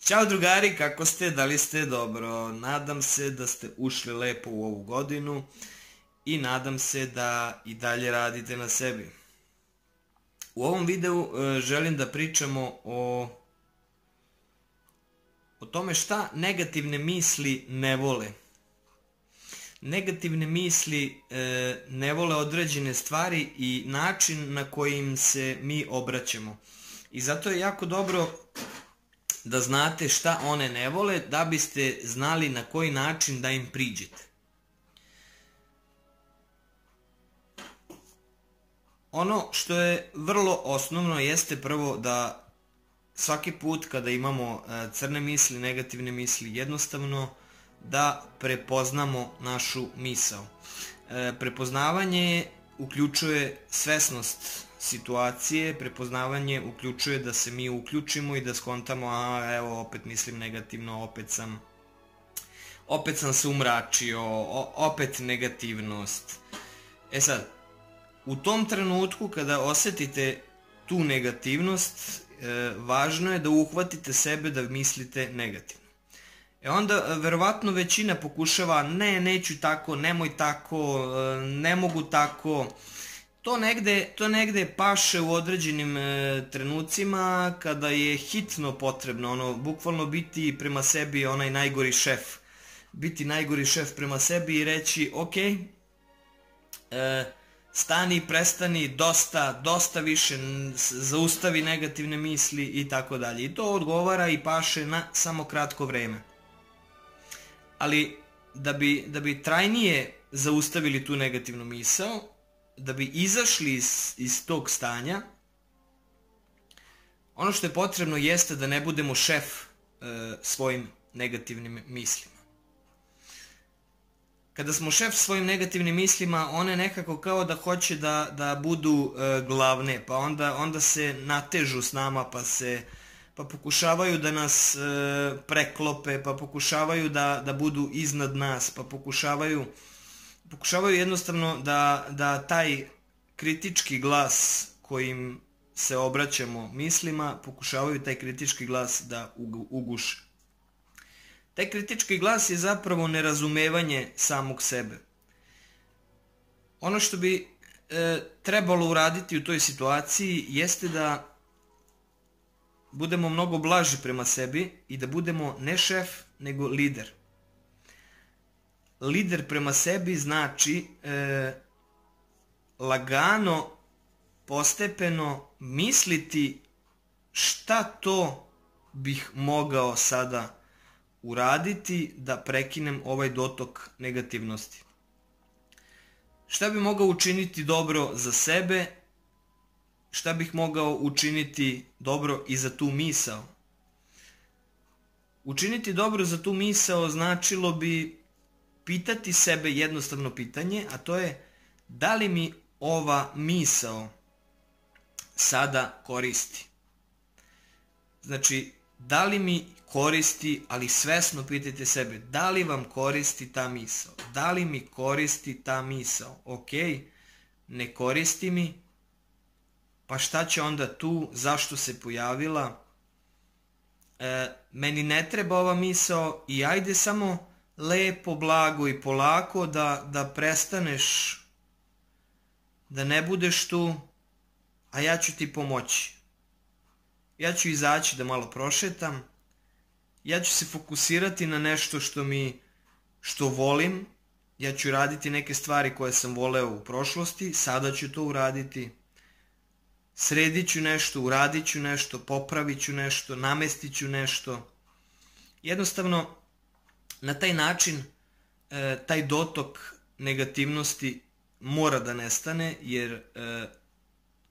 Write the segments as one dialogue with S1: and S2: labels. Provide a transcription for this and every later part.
S1: Ćao drugari, kako ste? Da li ste dobro? Nadam se da ste ušli lepo u ovu godinu i nadam se da i dalje radite na sebi. U ovom videu želim da pričamo o tome šta negativne misli ne vole. Negativne misli ne vole određene stvari i način na kojim se mi obraćamo. I zato je jako dobro da znate šta one ne vole, da biste znali na koji način da im priđete. Ono što je vrlo osnovno jeste prvo da svaki put kada imamo crne misli, negativne misli, jednostavno da prepoznamo našu misao. Prepoznavanje uključuje svesnost situacije, prepoznavanje uključuje da se mi uključimo i da skontamo, evo opet mislim negativno, opet sam se umračio, opet negativnost. E sad, u tom trenutku kada osetite tu negativnost, važno je da uhvatite sebe da mislite negativno. Onda verovatno većina pokušava, neću tako, nemoj tako, ne mogu tako. To negde paše u određenim trenucima kada je hitno potrebno, bukvalno biti prema sebi onaj najgori šef. Biti najgori šef prema sebi i reći, ok, stani, prestani, dosta više, zaustavi negativne misli i tako dalje. I to odgovara i paše na samo kratko vreme. Ali da bi trajnije zaustavili tu negativnu misao, da bi izašli iz tog stanja, ono što je potrebno jeste da ne budemo šef svojim negativnim mislima. Kada smo šef svojim negativnim mislima, one nekako kao da hoće da budu glavne, pa onda se natežu s nama, pa pokušavaju da nas preklope, pa pokušavaju da budu iznad nas, pa pokušavaju jednostavno da taj kritički glas kojim se obraćamo mislima, pokušavaju taj kritički glas da uguše. Taj kritički glas je zapravo nerazumevanje samog sebe. Ono što bi trebalo uraditi u toj situaciji jeste da budemo mnogo blaži prema sebi i da budemo ne šef, nego lider. Lider prema sebi znači lagano, postepeno misliti šta to bih mogao sada uraditi da prekinem ovaj dotok negativnosti. Šta bih mogao učiniti dobro za sebe, šta bih mogao učiniti dobro i za tu misao. Učiniti dobro za tu misao značilo bi pitati sebe jednostavno pitanje, a to je da li mi ova misao sada koristi. Znači, da li mi koristi, ali svesno pitajte sebe, da li vam koristi ta misao? Da li mi koristi ta misao? Ok, ne koristi mi, pa šta će onda tu, zašto se pojavila? Meni ne treba ova misao i ajde samo lepo, blago i polako da prestaneš, da ne budeš tu, a ja ću ti pomoći. Ja ću izaći da malo prošetam, ja ću se fokusirati na nešto što volim, ja ću raditi neke stvari koje sam voleo u prošlosti, sada ću to uraditi, sredit ću nešto, uradit ću nešto, popravit ću nešto, namestit ću nešto. Jednostavno, na taj način, taj dotok negativnosti mora da nestane, jer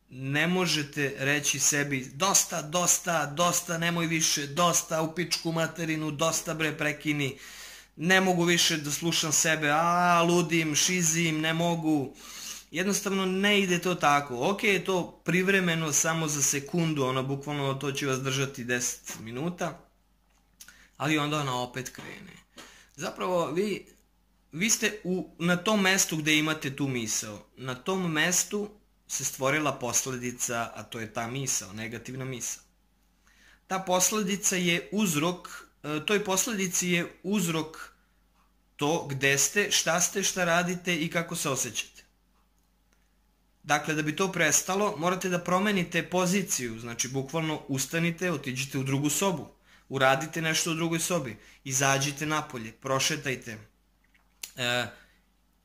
S1: ne možete reći sebi dosta, nemoj više, dosta, u pičku materinu, dosta bre, prekini, ne mogu više da slušam sebe, ludim, šizim, ne mogu. Jednostavno ne ide to tako. Ok, je to privremeno, samo za sekundu, bukvalno to će vas držati 10 minuta, ali onda ona opet krene. Zapravo, vi ste na tom mestu gde imate tu misao. Na tom mestu se stvorila posledica, a to je ta misao, negativna misao. ta posledica je uzrok, toj posledici je uzrok to gde ste, šta radite i kako se osjećate. Dakle, da bi to prestalo, morate da promenite poziciju, znači bukvalno ustanite, otiđite u drugu sobu, uradite nešto u drugoj sobi, izađite napolje, prošetajte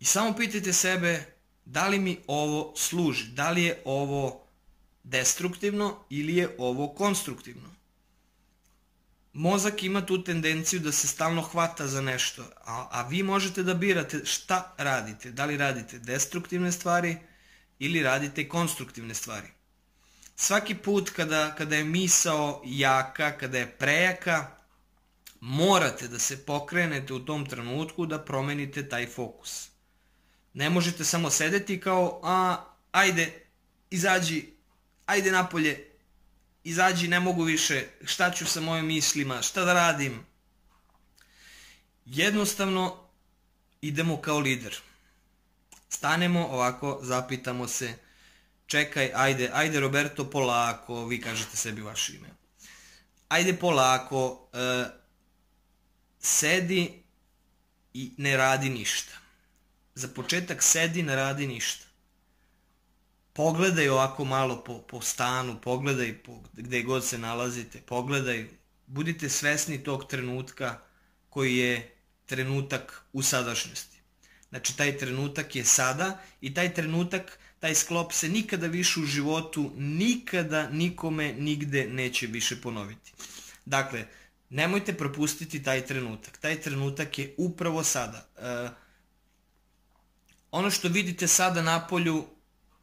S1: i samo pitajte sebe da li mi ovo služi, da li je ovo destruktivno ili je ovo konstruktivno. Mozak ima tu tendenciju da se stalno hvata za nešto, a vi možete da birate šta radite, da li radite destruktivne stvari ili radite konstruktivne stvari. Svaki put kada je misao jaka, kada je prejaka, morate da se pokrenete u tom trenutku da promenite taj fokus. Ne možete samo sedeti kao, ajde, izađi, ajde napolje, izađi, ne mogu više, šta ću sa mojim mislima, šta da radim. Jednostavno idemo kao lider. Stanemo ovako, zapitamo se, čekaj, ajde Roberto, polako, vi kažete sebi vaše ime. Ajde polako, sedi i ne radi ništa. Za početak sedi, ne radi ništa. Pogledaj ovako malo po stanu, pogledaj gde god se nalazite, pogledaj, budite svesni tog trenutka koji je trenutak u sadašnjosti. Znači, taj trenutak je sada i taj trenutak, taj sklop se nikada više u životu, nikada nikome nigde neće više ponoviti. Dakle, nemojte propustiti taj trenutak. Taj trenutak je upravo sada. Ono što vidite sada napolju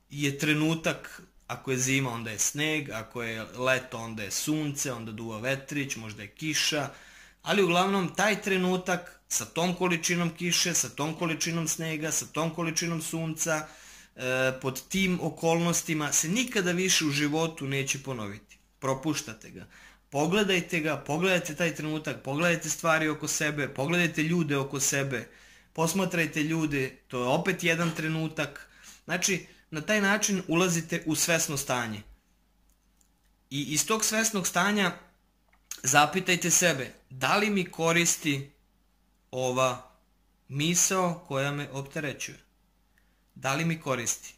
S1: je trenutak, ako je zima onda je sneg, ako je leto onda je sunce, onda duva vetrić, možda je kiša, ali uglavnom taj trenutak sa tom količinom kiše, sa tom količinom snega, sa tom količinom sunca, pod tim okolnostima se nikada više u životu neće ponoviti. Propuštate ga. Pogledajte ga, pogledajte taj trenutak, pogledajte stvari oko sebe, pogledajte ljude oko sebe, posmatrajte ljude, to je opet jedan trenutak. Znači, na taj način ulazite u svesno stanje. I iz tog svesnog stanja zapitajte sebe, da li mi koristi ova misao koja me opterećuje? Da li mi koristi?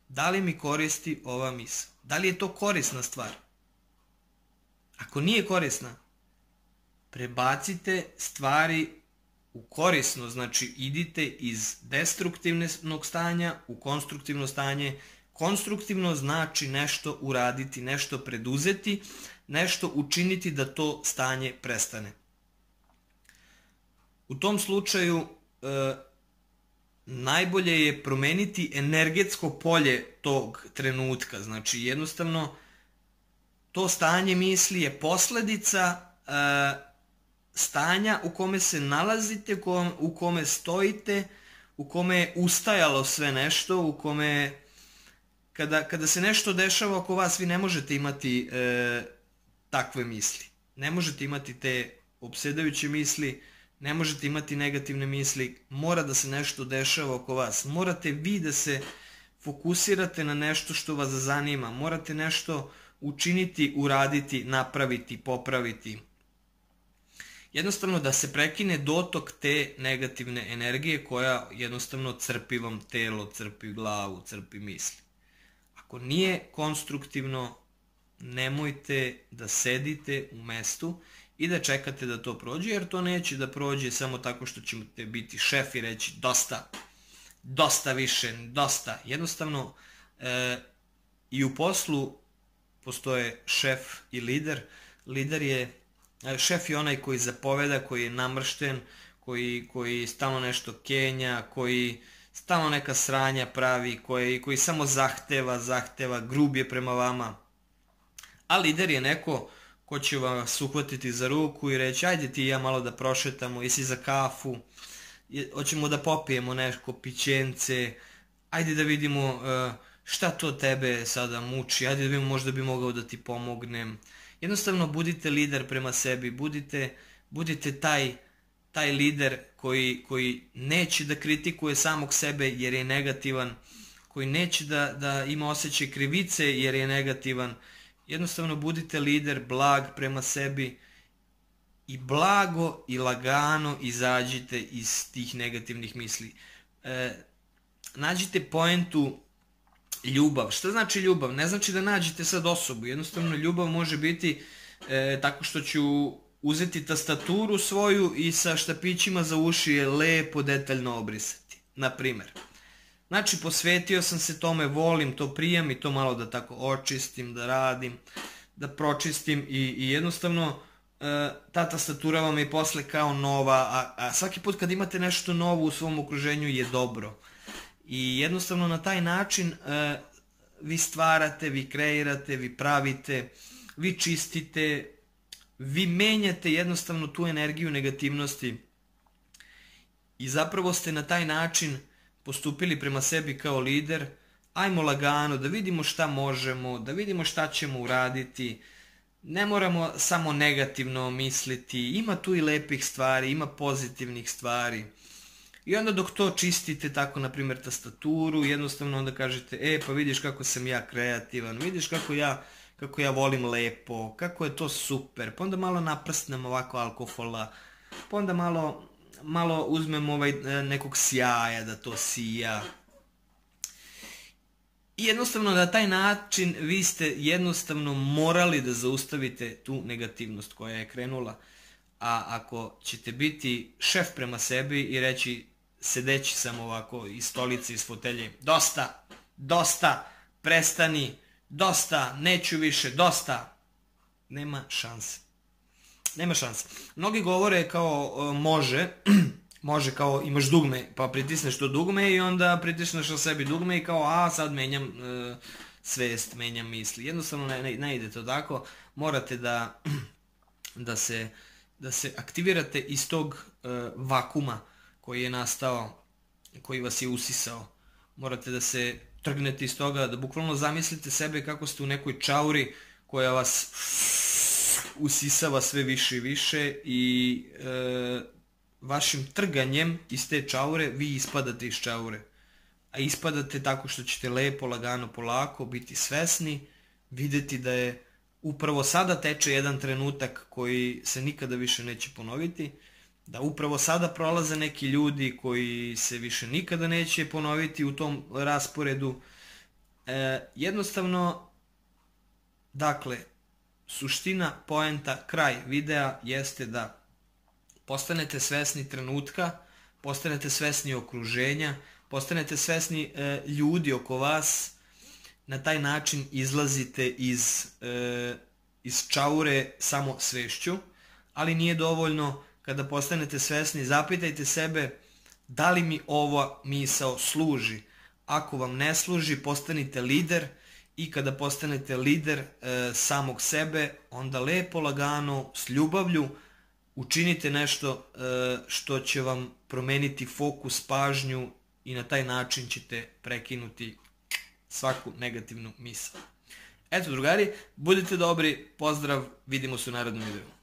S1: Da li mi koristi ova misao? Da li je to korisna stvar? Ako nije korisna, prebacite stvari u korisno, znači idite iz destruktivnog stanja u konstruktivno stanje. Konstruktivno znači nešto uraditi, nešto preduzeti, nešto učiniti da to stanje prestane. U tom slučaju najbolje je promeniti energetsko polje tog trenutka. Znači jednostavno to stanje misli je posledica stanja u kome se nalazite, u kome stojite, u kome je ustajalo sve nešto, u kome kada se nešto dešava oko vas, vi ne možete imati takve misli. Ne možete imati te opsedajuće misli, ne možete imati negativne misli, mora da se nešto dešava oko vas. Morate vi da se fokusirate na nešto što vas zanima, morate nešto učiniti, uraditi, napraviti, popraviti. Jednostavno da se prekine dotok te negativne energije koja jednostavno crpi vam telo, crpi glavu, crpi misli. Ako nije konstruktivno, nemojte da sedite u mestu i da čekate da to prođe, jer to neće da prođe samo tako što ćete biti šef i reći dosta, dosta više, dosta. Jednostavno i u poslu postoje šef i lider. Šef je onaj koji zapoveda, koji je namršten, koji stalno nešto kenja, koji stalno neka sranja pravi, koji samo zahteva, grub je prema vama. A lider je neko ko će vas uhvatiti za ruku i reći ajde ti i ja malo da prošetamo, jesi za kafu, hoćemo da popijemo neko pićence, ajde da vidimo šta to tebe sada muči, ajde da vidimo možda bi mogao da ti pomognem. Jednostavno budite lider prema sebi, budite taj lider koji neće da kritikuje samog sebe jer je negativan, koji neće da ima osjećaj krivice jer je negativan, Jednostavno budite lider, blag prema sebi i blago i lagano izađite iz tih negativnih misli. Nađite poentu ljubav. Šta znači ljubav? Ne znači da nađete sad osobu. Jednostavno ljubav može biti tako što ću uzeti tastaturu svoju i sa štapićima za uši je lepo detaljno obrisati. Naprimer. Znači posvetio sam se tome, volim to, prijam i to malo da tako očistim, da radim, da pročistim i jednostavno ta tastatura vam je posle kao nova, a svaki put kad imate nešto novo u svom okruženju je dobro. I jednostavno na taj način vi stvarate, vi kreirate, vi pravite, vi čistite, vi menjate jednostavno tu energiju negativnosti i zapravo ste na taj način postupili prema sebi kao lider. Ajmo lagano da vidimo šta možemo, da vidimo šta ćemo uraditi. Ne moramo samo negativno misliti, ima tu i lepih stvari, ima pozitivnih stvari. I onda dok to čistite, tako na primjer tastaturu, jednostavno onda kažete, pa vidiš kako sam ja kreativan, vidiš kako ja volim lepo, kako je to super. Pa onda malo naprsnem ovako alkohola, pa onda malo uzmem nekog sjaja da to sija. I jednostavno na taj način vi ste jednostavno morali da zaustavite tu negativnost koja je krenula. A ako ćete biti šef prema sebi i reći sedeći samo ovako iz stolice, iz fotelje, dosta, prestani, dosta, neću više, dosta, nema šanse. Nema šanse. Mnogi govore kao može kao imaš dugme, pa pritisneš to dugme i onda pritisneš na sebi dugme i kao sad menjam svest, menjam misli. Jednostavno ne ide to tako. Morate da se aktivirate iz tog vakuma koji je nastao, koji vas je usisao. Morate da se trgnete iz toga, da bukvalno zamislite sebe kako ste u nekoj čauri koja vas usisava sve više i više i vašim trganjem iz te čaure vi ispadate iz čaure. A ispadate tako što ćete lepo, lagano, polako biti svesni, videti da je upravo sada teče jedan trenutak koji se nikada više neće ponoviti, da upravo sada prolaze neki ljudi koji se više nikada neće ponoviti u tom rasporedu. Jednostavno, dakle, suština, poenta, kraj videa jeste da postanete svesni trenutka, postanete svesni okruženja, postanete svesni ljudi oko vas, na taj način izlazite iz čaure samo svešću, ali nije dovoljno. Kada postanete svesni, zapitajte sebe da li mi ova misao služi. Ako vam ne služi, postanite lider i kada postanete lider samog sebe, onda lepo, lagano, s ljubavlju učinite nešto što će vam promeniti fokus, pažnju i na taj način ćete prekinuti svaku negativnu misao. Eto drugari, budite dobri, pozdrav, vidimo se u narednom videu.